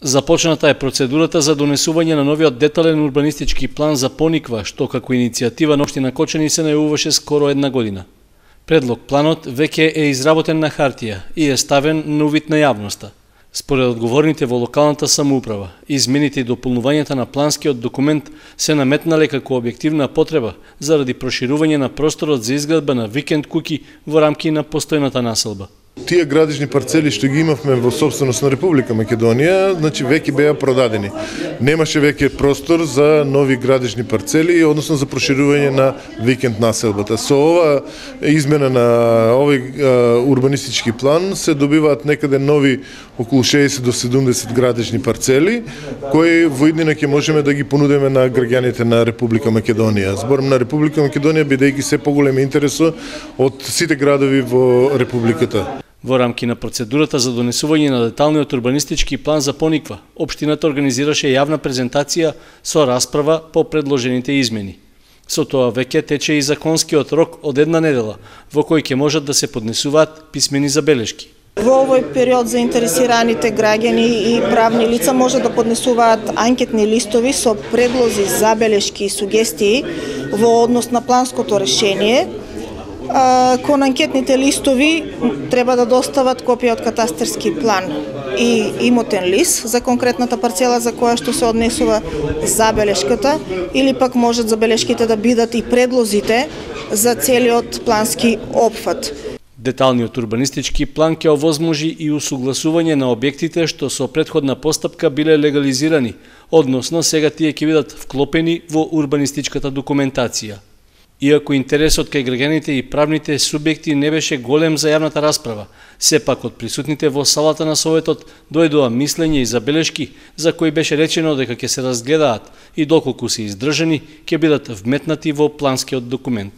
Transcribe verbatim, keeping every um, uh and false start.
Започната е процедурата за донесување на новиот детален урбанистички план за Пониква, што како иницијатива на општина Кочани се најавуваше скоро една година. Предлог планот веќе е изработен на хартија и е ставен на увид на јавноста. Според одговорните во локалната самоуправа, измените и дополнувањата на планскиот документ се наметнале како објективна потреба заради проширување на просторот за изградба на викенд куќи во рамки на постојната населба. Тие градични парцели што ги имавме во собственост на Република Македонија, значи веќе беа продадени. Немаше веќе простор за нови градични парцели, односно за проширување на викенд населбата. Со ова измена на овој урбанистички план се добиваат некаде нови околу шеесет до седумдесет градични парцели, кои во иднина ќе можеме да ги понудиме на граѓаните на Република Македонија. Зборам на Република Македонија бидејќи се поголем интересот од сите градови во Републиката. Во рамки на процедурата за донесување на деталниот урбанистички план за Пониква, општината организираше јавна презентација со расправа по предложените измени. Со тоа веќе тече и законскиот рок од една недела, во кој ќе можат да се поднесуваат писмени забелешки. Во овој период заинтересираните граѓани и правни лица може да поднесуваат анкетни листови со предлози, забелешки и сугестии во однос на планското решение. Кон анкетните листови треба да достават копија од катастерски план и имотен лист за конкретната парцела за која што се однесува забелешката, или пак можат забелешките да бидат и предлозите за целиот плански опфат. Деталниот урбанистички план ќе овозможи и усугласување на објектите што со претходна постапка биле легализирани, односно сега тие ќе бидат вклопени во урбанистичката документација. Иако интересот кај граѓаните и правните субјекти не беше голем за јавната расправа, сепак од присутните во салата на Советот дојдоа мислење и забелешки за кои беше речено дека ќе се разгледаат и доколку се издржани ќе бидат вметнати во планскиот документ.